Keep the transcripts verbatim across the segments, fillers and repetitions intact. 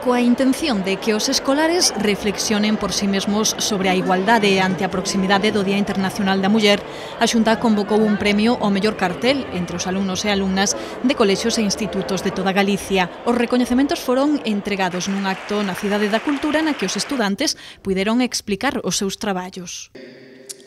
Coa intención de que os escolares reflexionen por si mesmos sobre a igualdade ante a proximidade do Día Internacional da Muller, a Xunta convocou un premio ao mellor cartel entre os alumnos e alumnas de colexios e institutos de toda Galicia. Os recoñecementos foron entregados nun acto na Cidade da Cultura na que os estudantes puideron explicar os seus traballos.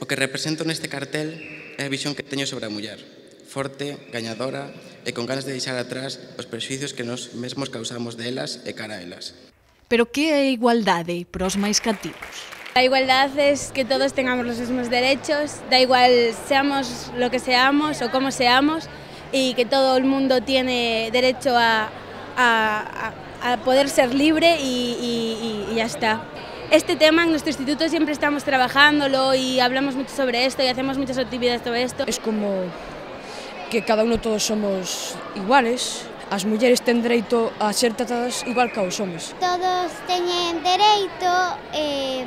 O que represento neste cartel é a visión que teño sobre a muller, forte, gañadora e con ganas de deixar atrás os prexuicios que nos mesmos causamos delas e cara a elas. Pero que é a igualdade para os máis cativos? La igualdad es que todos tengamos los mismos derechos, da igual seamos lo que seamos o cómo seamos, y que todo el mundo tiene derecho a, a, a poder ser libre y, y, y ya está. Este tema en nuestro instituto siempre estamos trabajándolo y hablamos mucho sobre esto y hacemos muchas actividades sobre esto. Es como que cada uno todos somos iguales. As mulleres ten dereito a ser tratadas igual que os homes. Todos teñen dereito eh,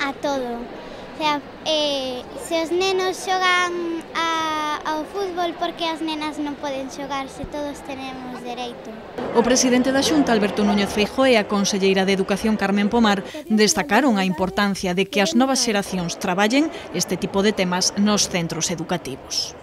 a todo. O sea, eh, se os nenos xogan a, ao fútbol, porque as nenas non poden xogar, se todos tenemos dereito. O presidente da Xunta, Alberto Núñez Feijóo, e a conselleira de Educación, Carmen Pomar, destacaron a importancia de que as novas xeracións traballen este tipo de temas nos centros educativos.